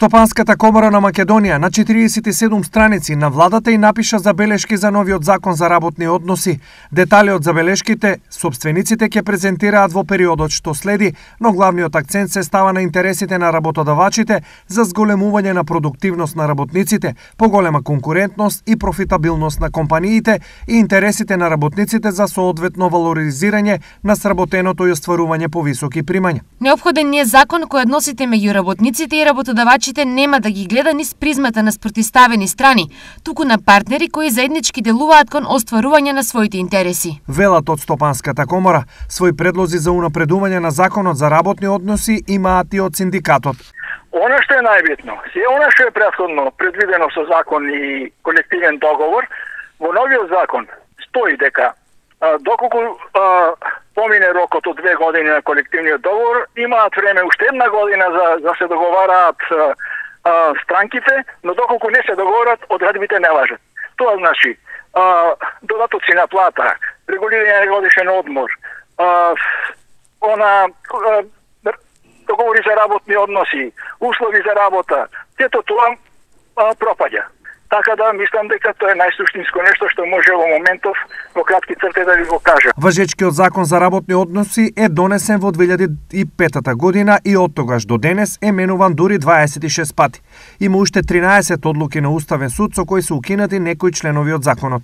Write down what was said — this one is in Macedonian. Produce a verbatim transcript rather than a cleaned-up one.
Стопанската комора на Македонија на четириесет и седум страници на владата и напиша забелешки за новиот закон за работни односи. Детали од забелешките сопствениците ќе презентираат во периодот што следи, но главниот акцент се става на интересите на работодавачите за зголемување на продуктивност на работниците, поголема конкурентност и профитабилност на компаниите и интересите на работниците за соодветно валоризирање на сработеното и остварување повисоки примања. Неопходен ни е закон кој односите меѓу работниците и работодавачите нема да ги гледа низ призмата на спротивставени страни, туку на партнери кои заеднички делуваат кон остварување на своите интереси. Велат од Стопанската комора, свои предлози за унапредување на законот за работни односи имаат и од синдикатот. Она што е најбитно, се она што е претходно предвидено со закон и колективен договор, во новиот закон стои дека а, доколку а, помине рокот од две години на колективниот договор, имаат време уште една година за, за се договараат а, а, странките, но доколку не се договорат, одредбите не важат. Тоа значи а, додатоци на плата, регулирање на годишен одмор, а, она а, договори за работни односи, услови за работа, сето тоа а, пропаѓа. Така да мислам дека тоа е најсуштинско нешто што може во моментов во кратки црти да ви го кажа. Важечкиот закон за работни односи е донесен во две илјади и петта година и од тогаш до денес е менуван дури дваесет и шест пати. Има уште тринаесет одлуки на Уставен суд со кои се укинати некои членови од законот.